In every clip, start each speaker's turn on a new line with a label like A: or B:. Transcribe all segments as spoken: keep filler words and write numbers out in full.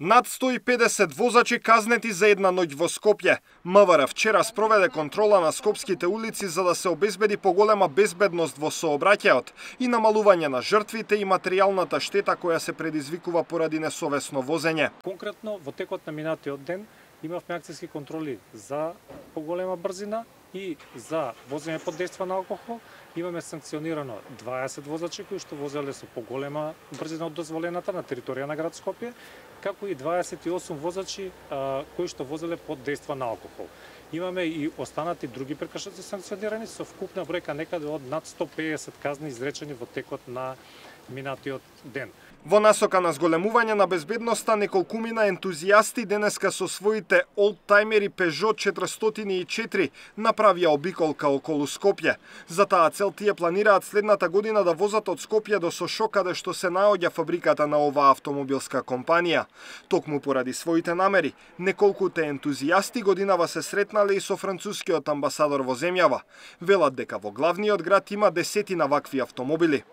A: Над сто и педесет возачи казнети за една ноќ во Скопје. МВР вчера спроведе контрола на скопските улици за да се обезбеди поголема безбедност во сообраќајот и намалување на жртвите и материјалната штета која се предизвикува поради несовесно возење.
B: Конкретно во текот на минатиот ден имавме акцијски контроли за поголема брзина и за возење под дејство на алкохол. Имаме санкционирано дваесет возачи кои што возеле со поголема брзина од дозволената на територија на град Скопје, како и дваесет и осум возачи а, кои што возеле под дејство на алкохол. Имаме и останати други прекршоци санкционирани со вкупна бројка некаде од над сто педесет казни изречени во текот на минатиот ден.
A: Во насока на зголемување на безбедноста, неколкумина ентузијасти денеска со своите олдтаймери Peugeot четиристотини и четири направија обиколка околу Скопје. За таа цел тие планираат следната година да возат од Скопје до Сошо, каде што се наоѓа фабриката на оваа автомобилска компанија. Токму поради своите намери, неколкуте ентузијасти годинава се сретнале и со францускиот амбасадор во земјава. Велат дека во главниот град има десетина вакви автомобили.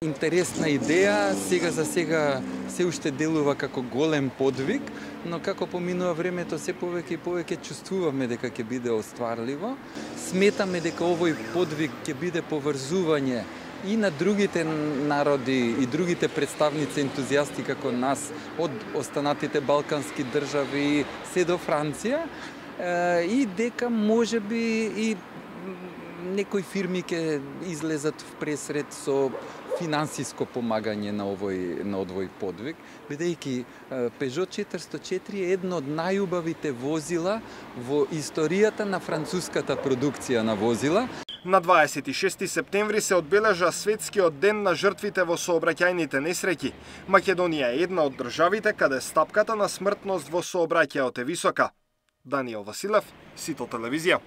C: Интересна идеја, сега за сега се уште делува како голем подвиг, но како поминува времето се повеќе и повеќе чувствуваме дека ќе биде остварливо. Сметаме дека овој подвиг ќе биде поврзување и на другите народи и другите представници ентузијасти како нас од останатите балкански држави се до Франција и дека можеби и некои фирми ќе излезат в пресред со финансиско помагање на овој на овој подвиг, бидејќи Peugeot четиристотини и четири е едно од најубавите возила во историјата на француската продукција на возила.
A: На дваесет и шести септември се одбележа светскиот ден на жртвите во сообраќајните несреќи. Македонија е една од државите каде стапката на смртност во сообраќајот е висока. Даниел Василев, Сител телевизија.